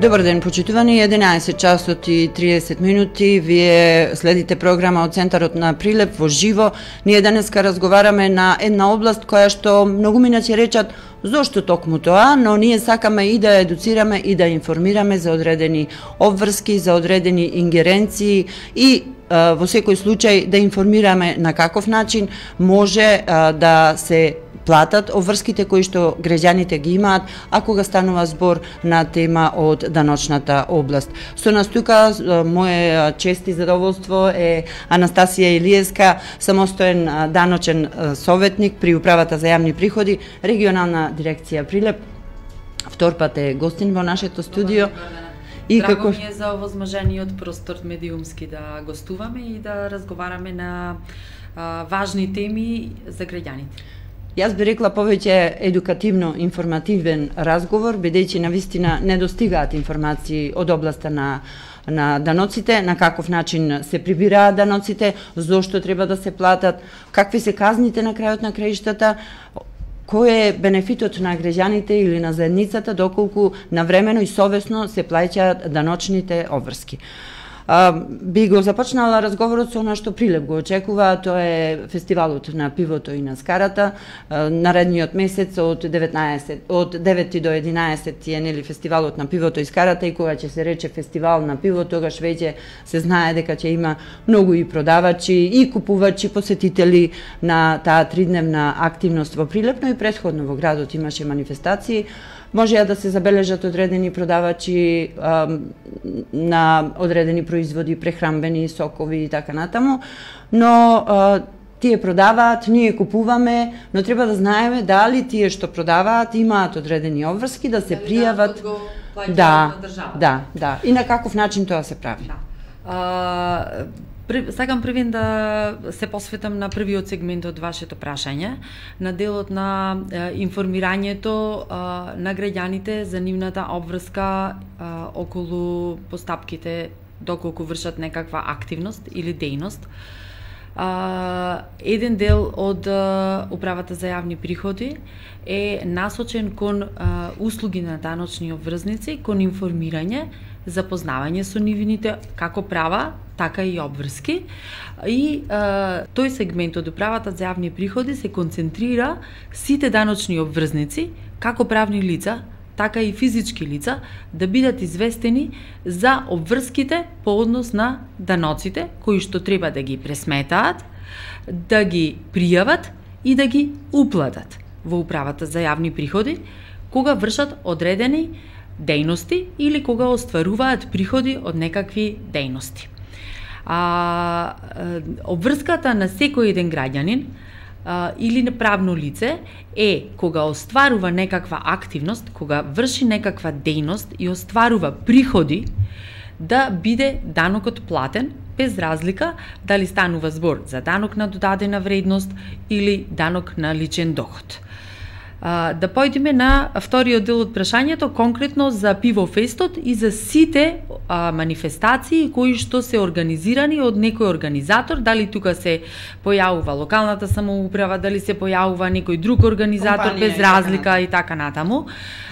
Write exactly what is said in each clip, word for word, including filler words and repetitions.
Добар ден, почитувани, единаесет часот и триесет минути, вие следите програма од Центарот на Прилеп во живо. Ние денеска разговараме на една област која што многу минати речат зошто токму тоа, но ние сакаме и да едуцираме и да информираме за одредени обврски, за одредени ингеренции и во секој случај да информираме на каков начин може да се платат обврските кои што граѓаните ги имаат, а кога станува збор на тема од даночната област. Со нас тука моје чест и задоволство е Анастасија Илиевска, самостоен даночен советник при Управата за јавни приходи, регионална дирекција Прилеп. Втор пат е гостин во нашето студио. И Драго како... ми е за овозможениот простор медиумски да гостуваме и да разговараме на а, важни теми за граѓаните. Јас би рекла повеќе едукативно-информативен разговор, бидејќи навистина не достигаат информации од областа на на даноците, на каков начин се прибираат даноците, зошто треба да се платат, какви се казните на крајот на краиштата, кој е бенефитот на граѓаните или на заедницата доколку навремено и совесно се плаќаат даночните обврски. А, би го започнала разговорот со она што Прилеп го очекува, тоа е фестивалот на пивото и на скарата. А, наредниот месец од деветнаесет од девети до единаесет е нели фестивалот на пивото и скарата, и кога ќе се рече фестивал на пиво, тогаш веќе се знае дека ќе има многу и продавачи и купувачи, посетители на таа тридневна активност во Прилеп, но и претходно во градот имаше манифестации. Можеа да се забележат одредени продавачи а, на одредени производи, прехранбени, сокови и така натаму, но а, тие продаваат, ние купуваме, но треба да знаеме дали тие што продаваат имаат одредени обврски, да се пријават. Да, да, да. И на каков начин тоа се прави? Да. А, Сакам првен да се посветам на првиот сегмент од вашето прашање, на делот на е, информирањето е, на граѓаните за нивната обврска е, околу постапките доколку вршат некаква активност или дејност. Uh, еден дел од uh, Управата за јавни приходи е насочен кон uh, услуги на даночни обврзници, кон информирање, запознавање со нивните како права, така и обврски. И uh, тој сегмент од Управата за јавни приходи се концентрира сите даночни обврзници, како правни лица, така и физички лица, да бидат известени за обврските по однос на даноците, кои што треба да ги пресметаат, да ги пријават и да ги уплатат во Управата за јавни приходи, кога вршат одредени дејности или кога остваруваат приходи од некакви дејности. А, обврската на секој еден граѓанин Uh, или неправно лице е кога остварува некаква активност, кога врши некаква дејност и остварува приходи, да биде данокот платен без разлика дали станува збор за данок на додадена вредност или данок на личен доход. Uh, да појдеме на вториот дел од прашањето, конкретно за пивофестот и за сите uh, манифестации кои што се организирани од некој организатор, дали тука се појавува локалната самоуправа, дали се појавува некој друг организатор, компанија, без разлика и така натаму.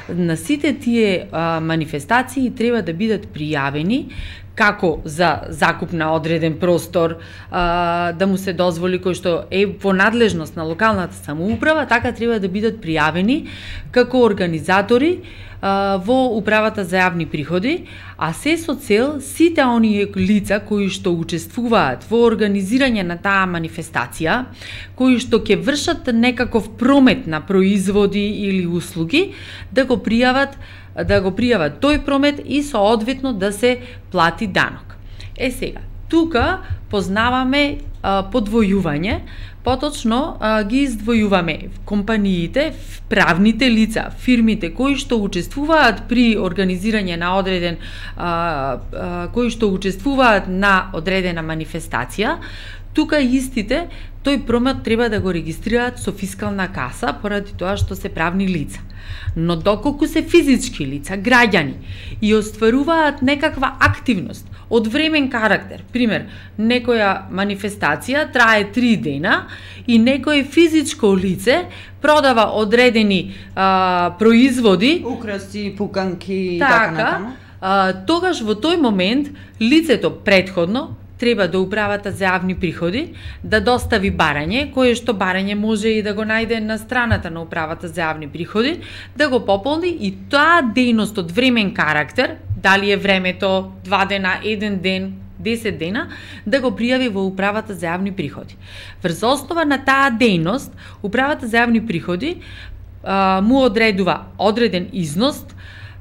На сите тие uh, манифестации треба да бидат пријавени како за закуп на одреден простор, а, да му се дозволи кој што е во надлежност на локалната самоуправа, така треба да бидат пријавени како организатори а, во Управата за јавни приходи, а се со цел сите оние лица кои што учествуваат во организирање на таа манифестација, кои што ќе вршат некаков промет на производи или услуги, да го пријават да го пријават тој промет и соодветно да се плати данок. Е сега, тука познаваме а, подвојување, поточно а, ги издвојуваме компаниите, правните лица, фирмите кои што учествуваат при организирање на одреден а, а, кои што учествуваат на одредена манифестација. Тука истите тој промет треба да го регистрираат со фискална каса поради тоа што се правни лица. Но доколку се физички лица, граѓани, и остваруваат некаква активност од времен карактер, пример, некоја манифестација трае три дена и некој физичко лице продава одредени а, производи, украси, пуканки и така, така натаму, а, тогаш во тој момент лицето претходно треба до управата за јавни приходи да достави барање, кое што барање може и да го најде на страната на управата за јавни приходи, да го пополни и таа дејност од времен карактер, дали е времето два дена, еден ден, десет дена, да го пријави во управата за јавни приходи. Врз основа на таа дејност, управата за јавни приходи а, му одредува одреден износ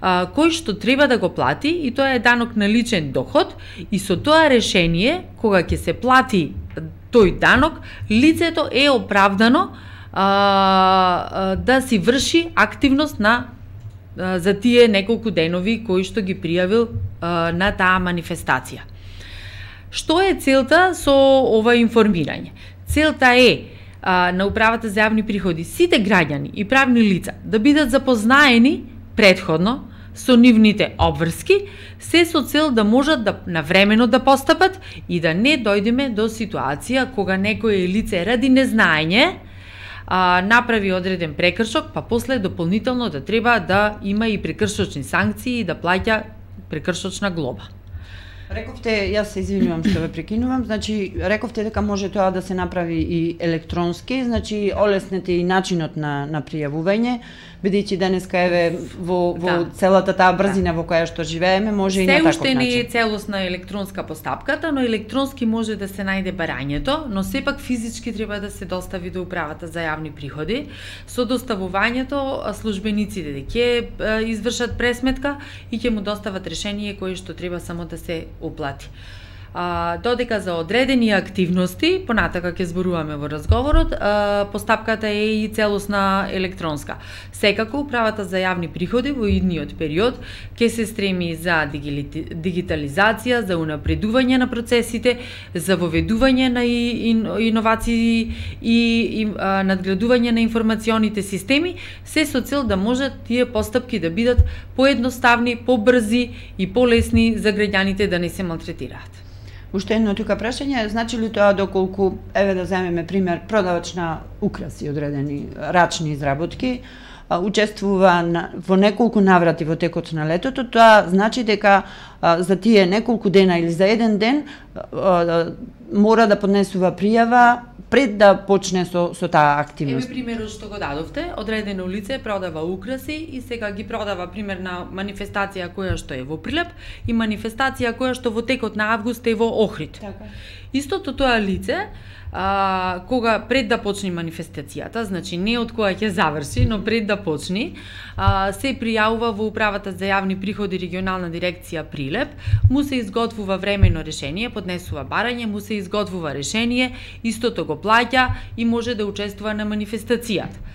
а, кој што треба да го плати, и тоа е данок на личен доход, и со тоа решение, кога ќе се плати тој данок, лицето е оправдано а, а, да си врши активност на а, за тие неколку денови кои што ги пријавил а, на таа манифестација. Што е целта со ова информирање? Целта е а, на управата за јавни приходи сите граѓани и правни лица да бидат запознаени претходно со нивните обврски, се со цел да можат да навремено да постапат и да не дојдеме до ситуација кога некое лице ради незнаење а, направи одреден прекршок, па после дополнително да треба да има и прекршочни санкции и да плаќа прекршочна глоба. Рековте, јас се извинувам што ве прекинувам, значи рековте дека може тоа да се направи и електронски, значи олеснете и начинот на на пријавување, бидејќи денеска еве во во да. целата таа брзина да. во која што живееме, може Се и на таков начин. Се уште не е начин. целосна електронска постапката, но електронски може да се најде барањето, но сепак физички треба да се достави до управата за јавни приходи. Со доставувањето службениците ќе извршат пресметка и ќе му достават решение кое што треба само да се уплати. А, додека за одредени активности, понатака ќе зборуваме во разговорот, а, постапката е и целосна електронска. Секако управата за јавни приходи во идниот период ќе се стреми за дигитализација, за унапредување на процесите, за воведување на иновации и, и а, надградување на информационите системи, се со цел да можат тие постапки да бидат поедноставни, побрзи и полесни за граѓаните да не се малтретираат. Уште едно тука прашање, значи ли тоа доколку, еве да земеме пример, продавач на украси, одредени рачни изработки, а, учествува на, во неколку наврати во текот на летото, тоа значи дека а, за тие неколку дена или за еден ден а, а, мора да поднесува пријава пред да почне со, со таа активност. Еве примерот што го дадовте, одредено лице продава украси и сега ги продава пример на манифестација која што е во Прилеп и манифестација која што во текот на август е во Охрид. Така. Истото тоа лице, а, кога пред да почне манифестацијата, значи не од која ќе заврши, но пред да почне, а, се пријавува во управата за јавни приходи регионална дирекција Прилеп, му се изготвува времено решение, поднесува барање, му се изготвува решение, истото го плаќа и може да учествува на манифестацијата.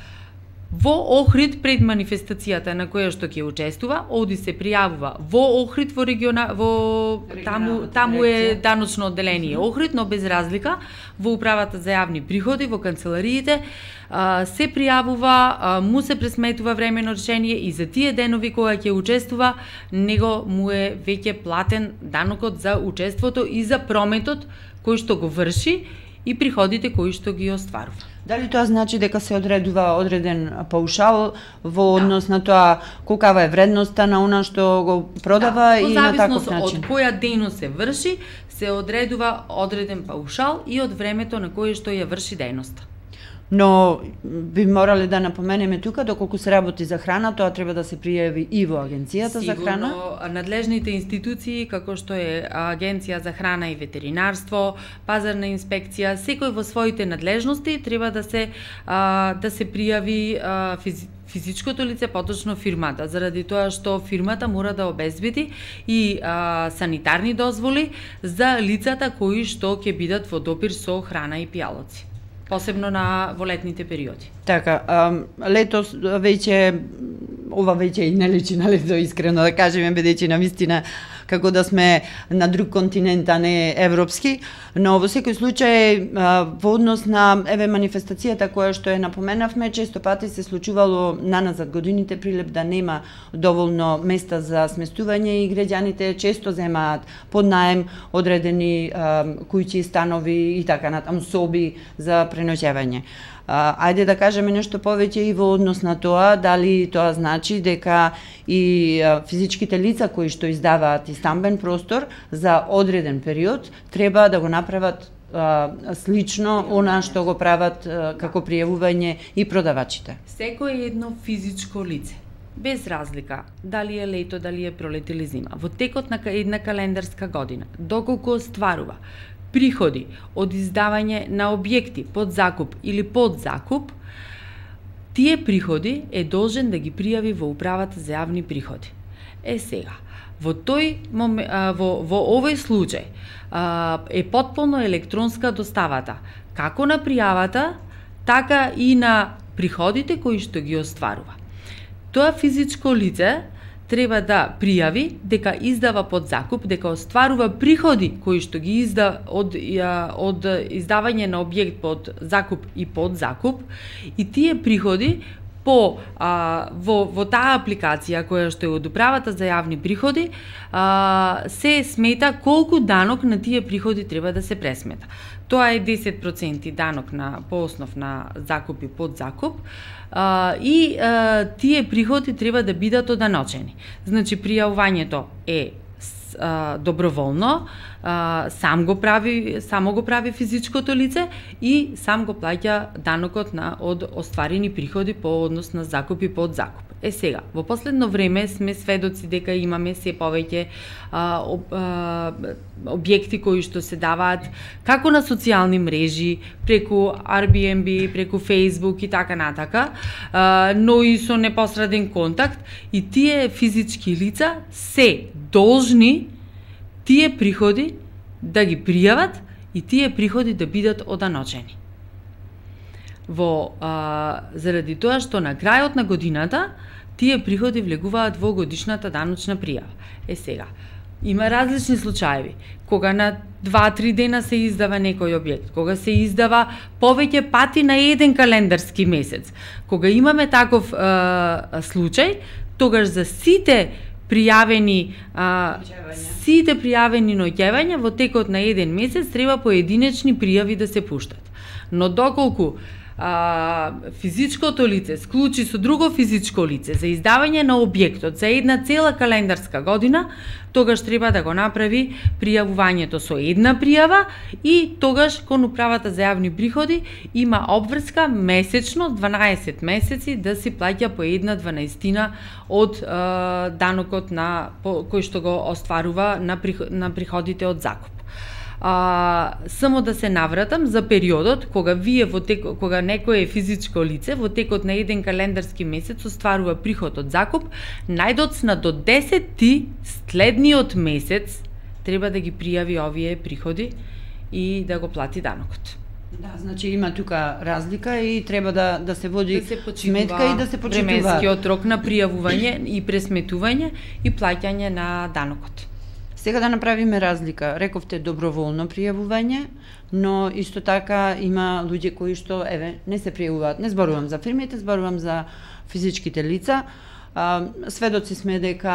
Во Охрид пред манифестацијата на која што ќе учествува, оди се пријавува во Охрид во региона во таму таму е даночно одделение Охрид, но без разлика во управата за јавни приходи во канцелариите а, се пријавува, а, му се пресметува времено решение и за тие денови кога ќе учествува, него му е веќе платен данокот за учеството и за прометот кој што го врши и приходите кои што ги остварува. Дали тоа значи дека се одредува одреден паушал во однос да. на тоа колкава е вредноста на она што го продава да, и на таков начин? Од која дејност се врши, се одредува одреден паушал и од времето на кое што ја врши дејноста. Но би морале да напоменеме тука, доколку се работи за храна, тоа треба да се пријави и во Агенцијата Сигурно, за храна. Сигурно, надлежните институции, како што е Агенција за храна и ветеринарство, пазарна инспекција, секој во своите надлежности треба да се а, да се пријави а, физи, физичкото лице, поточно фирмата, заради тоа што фирмата мора да обезбеди и а, санитарни дозволи за лицата кои што ќе бидат во допир со храна и пијалоци, посебно на во летните периоди. Така, а, летос веќе ова веќе и не личи на лето, искрено да кажеме, бидејќи навистина како да сме на друг континент, а не европски, но во секој случај во однос на еве манифестацијата која што е напоменавме, често пати се случувало наназад годините прилеп да нема доволно места за сместување и граѓаните често земаат под наем одредени куќи, станови и така натаму, соби за преноќевање. Ајде да кажеме нешто повеќе и во однос на тоа, дали тоа значи дека и физичките лица кои што издаваат и стамбен простор за одреден период треба да го направат а, слично она што го прават а, како пријавување и продавачите. Секој едно физичко лице, без разлика дали е лето, дали е пролет или зима, во текот на една календарска година, доколку остварува приходи од издавање на објекти под закуп или под закуп, тие приходи е должен да ги пријави во управата за јавни приходи. Е сега, во тој момент, во во овој случај е потполно електронска доставата, како на пријавата, така и на приходите кои што ги остварува. Тоа физичко лице треба да пријави дека издава под закуп, дека остварува приходи кои што ги изда од, од издавање на објект под закуп и под закуп, и тие приходи по а, во, во таа апликација која што е од управата за јавни приходи а, се смета колку данок на тие приходи треба да се пресмета. Тоа е десет проценти данок на по основ на закуп и под закуп. Uh, и uh, тие приходи треба да бидат оданочени. Значи, пријавувањето е uh, доброволно, uh, сам го прави, само го прави физичкото лице и сам го плаќа данокот на од остварени приходи по однос на закуп и под закуп. Е сега, во последно време сме сведоци дека имаме се повеќе а, об, а, објекти кои што се даваат како на социјални мрежи, преку Airbnb, преку Facebook и така натака, а, но и со непосреден контакт, и тие физички лица се должни тие приходи да ги пријават и тие приходи да бидат оданочени. Во а, заради тоа што на крајот на годината тие приходи влегуваат во годишната даночна пријава. Е сега, има различни случаеви, кога на два-три дена се издава некој објект, кога се издава повеќе пати на еден календарски месец. Кога имаме таков а, случај, тогаш за сите пријавени а, сите пријавени ноќевања во текот на еден месец треба поединечни пријави да се пуштат. Но доколку а, физичкото лице склучи со друго физичко лице за издавање на објектот за една цела календарска година, тогаш треба да го направи пријавувањето со една пријава и тогаш кон управата за јавни приходи има обврска месечно дванаесет месеци да се плаќа по една дванаестина од а, данокот на по, кој што го остварува на, приход, на приходите од закуп. А, само да се навратам за периодот кога вие во тек, кога некое физичко лице во текот на еден календарски месец остварува приход од закуп, најдоцна до десетти следниот месец треба да ги пријави овие приходи и да го плати данокот. Да, значи има тука разлика и треба да да се води да се сметка и да се почитува временскиот рок на пријавување и пресметување и плаќање на данокот. Сега да направиме разлика. Рековте доброволно пријавување, но исто така има луѓе кои што еве не се пријавуваат. Не зборувам за фирмите, зборувам за физичките лица. Сведоци сме дека,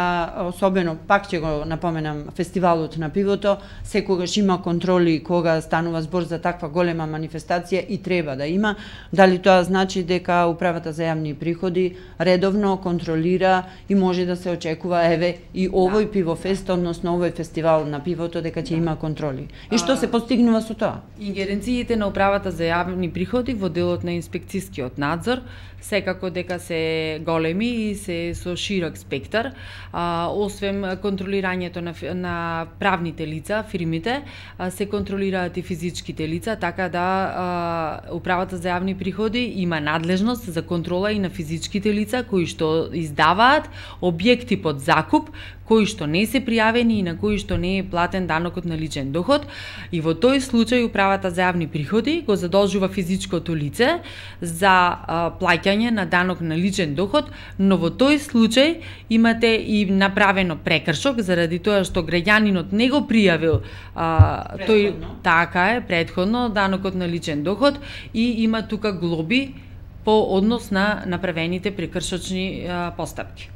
особено, пак ќе го напоменам, фестивалот на пивото, секогаш има контроли кога станува збор за таква голема манифестација и треба да има. Дали тоа значи дека управата за јавни приходи редовно контролира и може да се очекува еве и овој да, пивофест, односно овој фестивал на пивото, дека ќе да. има контроли. И што се постигнува со тоа? Ингеренциите на управата за јавни приходи во делот на инспекцискиот надзор секако дека се големи и се со широк спектар, а, освен контролирањето на, на правните лица, фирмите, а, се контролираат и физичките лица, така да а, управата за јавни приходи има надлежност за контрола и на физичките лица кои што издаваат објекти под закуп, кои што не се пријавени и на кои што не е платен данокот на личен доход, и во тој случај управата за јавни приходи го задолжува физичкото лице за а, плаќање плаќање на данок на личен доход, но во тој случај имате и направено прекршок заради тоа што граѓанинот не го пријавил а, тој така е претходно данокот на личен доход и има тука глоби по однос на направените прекршочни а, постапки.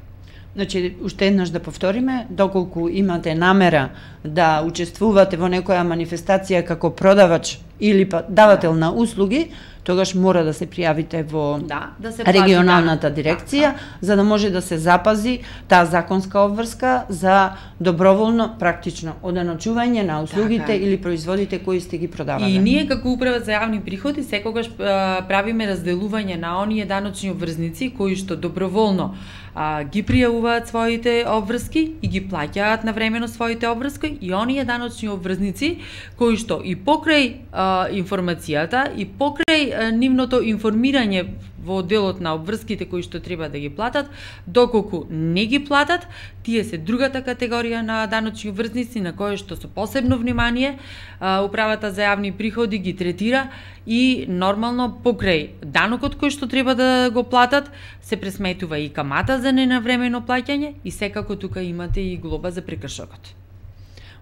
Значи, уште еднаш да повториме, доколку имате намера да учествувате во некоја манифестација како продавач или па давател на услуги, тогаш мора да се пријавите во да, да се регионалната плати, дирекција, да. за да може да се запази таа законска обврска за доброволно, практично оданочување на услугите така. Или производите кои сте ги продавале. И ние како управа за јавни приходи секогаш а, правиме разделување на оние даночни обврзници кои што доброволно а, ги пријавуваат своите обврски и ги плаќаат навремено своите обврски, и оние даночни обврзници кои што и покрај а, информацијата и покрај а, нивното информирање во делот на обврските кои што треба да ги платат, доколку не ги платат, тие се другата категорија на даночни обврзници на кои што со посебно внимание а, управата за јавни приходи ги третира и нормално покрај данокот кој што треба да го платат се пресметува и камата за ненавремено плаќање и секако тука имате и глоба за прекршокот.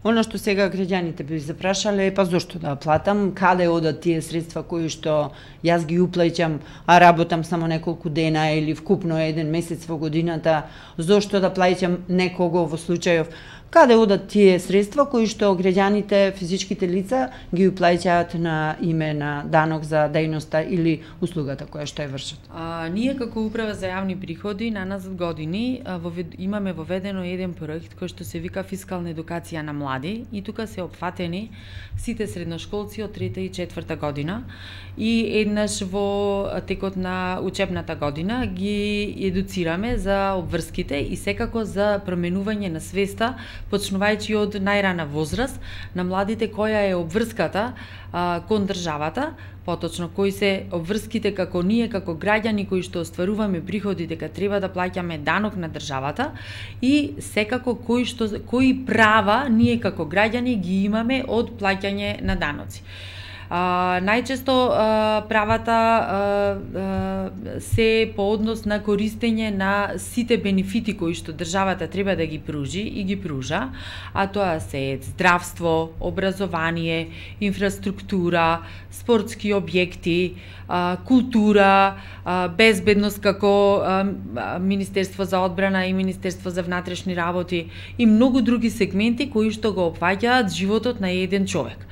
Оно што сега граѓаните би запрашале е па зошто да платам, каде одат тие средства кои што јас ги уплаќам, а работам само неколку дена или вкупно еден месец во годината, зошто да плаќам некого во случајов, каде одат тие средства кои што граѓаните, физичките лица ги уплаќаат на име на данок за дејноста или услугата која што ја вршат. А, ние како управа за јавни приходи на назад години а, вовед, имаме воведено еден проект кој што се вика фискална едукација на млади и тука се опфатени сите средношколци од трета и четврта година и еднаш во текот на учебната година ги едуцираме за обврските и секако за променување на свеста, почнувајќи од најрана возраст на младите која е обврската а, кон државата, поточно кои се обврските како ние како граѓани кои што остваруваме приходи дека треба да плаќаме данок на државата и секако кои што кои права ние како граѓани ги имаме од плаќање на даноци. А, најчесто а, правата а, а, се по однос на користење на сите бенефити кои што државата треба да ги пружи и ги пружа, а тоа се здравство, образование, инфраструктура, спортски објекти, а, култура, а, безбедност како а, Министерство за одбрана и Министерство за внатрешни работи и многу други сегменти кои што го опфаќаат животот на еден човек.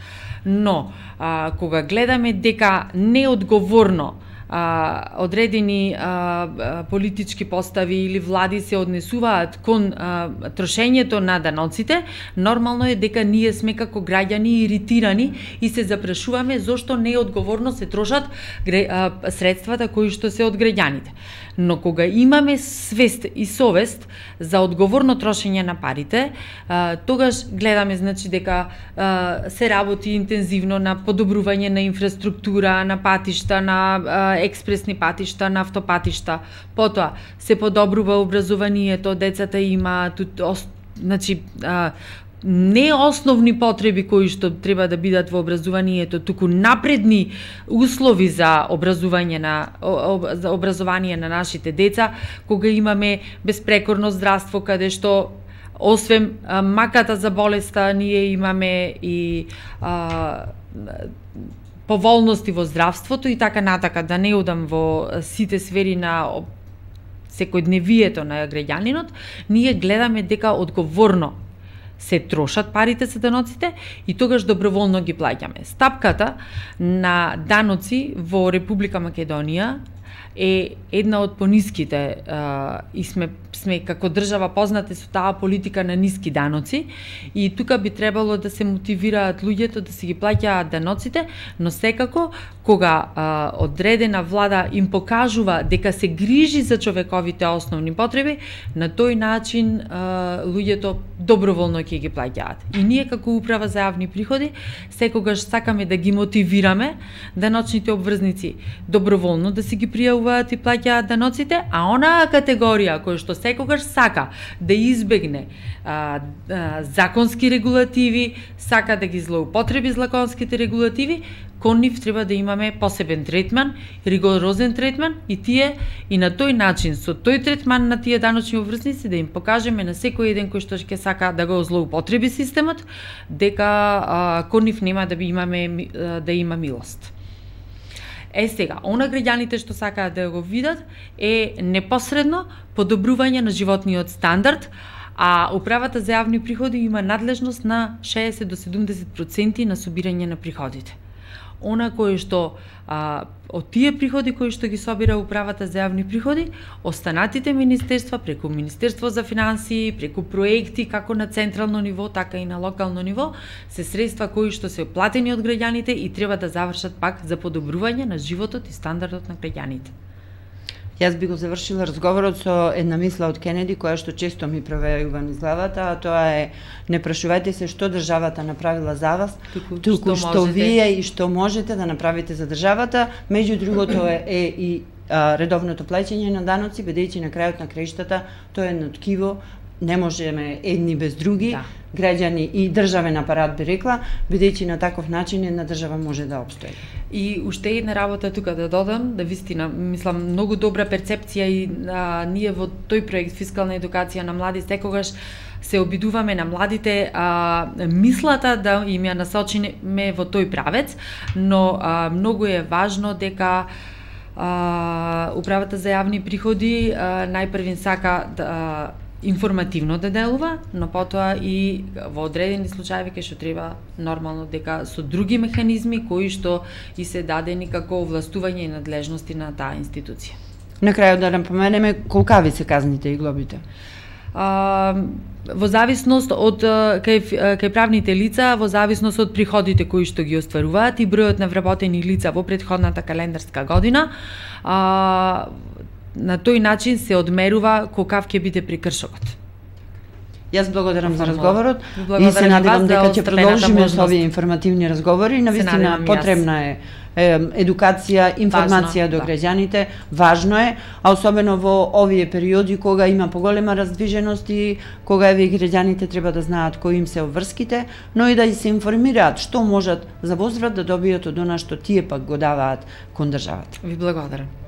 Но, а, кога гледаме дека неодговорно а, одредени а, политички постави или влади се однесуваат кон а, трошењето на даноците, нормално е дека ние сме како граѓани иритирани и се запрашуваме зошто неодговорно се трошат а, средствата кои што се од граѓаните. Но кога имаме свест и совест за одговорно трошење на парите, а, тогаш гледаме значи дека а, се работи интензивно на подобрување на инфраструктура, на патишта, на а, експресни патишта, на автопатишта. Потоа се подобрува образованието, децата имаат значи а, не основни потреби кои што треба да бидат во образованието, туку напредни услови за образување на за образование на нашите деца, кога имаме безпрекорно здравство каде што освен а, маката за болеста ние имаме и а, поволности во здравството и така натака, да не одам во сите сфери на секојдневието на граѓанинот, ние гледаме дека одговорно се трошат парите за даноците и тогаш доброволно ги плаќаме. Стапката на даноци во Република Македонија е една од пониските а, и сме сме како држава познати со таа политика на ниски даноци и тука би требало да се мотивираат луѓето да се ги плаќаат даноците, но секако кога а, одредена влада им покажува дека се грижи за човековите основни потреби, на тој начин а, луѓето доброволно ќе ги плаќаат. И ние како управа за јавни приходи секогаш сакаме да ги мотивираме даночните обврзници доброволно да се ги пријавуваат и плаќаат даноците, а онаа категорија која што секогаш сака да избегне а, а, законски регулативи, сака да ги злоупотреби законските регулативи, кон нив треба да имаме посебен третман, ригорозен третман и тие и на тој начин со тој третман на тие даночни обврсници да им покажеме на секој еден кој што ќе сака да го злоупотреби системот дека а, кон нив нема да би имаме да има милост. Е сега, она граѓаните што сакаат да го видат е непосредно подобрување на животниот стандард, а управата за јавни приходи има надлежност на шеесет до седумдесет проценти на собирање на приходите. Она кое што а, од тие приходи кои што ги собира управата за јавни приходи, останатите министерства преку Министерство за финансии, преку проекти како на централно ниво, така и на локално ниво, се средства кои што се платени од граѓаните и треба да завршат пак за подобрување на животот и стандардот на граѓаните. Јас би го завршила разговорот со една мисла од Кенеди, која што често ми провејува низ главата, а тоа е: не прашувајте се што државата направила за вас, туку, туку што, што вие и што можете да направите за државата. Меѓу другото е, е и а, редовното плаќање на даноци, бидејќи на крајот на краиштата тоа е едно ткиво, не можеме едни без други, да. Граѓани и државен апарат би рекла, бидејќи на таков начин една држава може да обстои. И уште една работа тука да додам, да вистина, мислам, многу добра перцепција и а, ние во тој проект фискална едукација на млади секогаш се обидуваме на младите а, мислата да им ја насочиме во тој правец, но а, многу е важно дека а, управата за јавни приходи а, најпрвин сака да информативно да делува, но потоа и во одредени случаи кај што треба нормално дека со други механизми кои што и се дадени како овластување и надлежности на таа институција. На крајот да напоменеме колкави се казните и глобите. А, во зависност од кај, кај правните лица, во зависност од приходите кои што ги остваруваат и бројот на вработени лица во претходната календарска година, а, на тој начин се одмерува колкав ќе биде прекршокот. Јас благодарам за разговорот и се надевам дека ќе продолжиме со овие информативни разговори. Навистина потребна е едукација, информација до граѓаните, важно е, а особено во овие периоди кога има поголема раздвиженост и кога еве граѓаните треба да знаат кои им се обврските, но и да се информираат што можат за возврат да добијат од она што тие пак го даваат кон државата. Ви благодарам.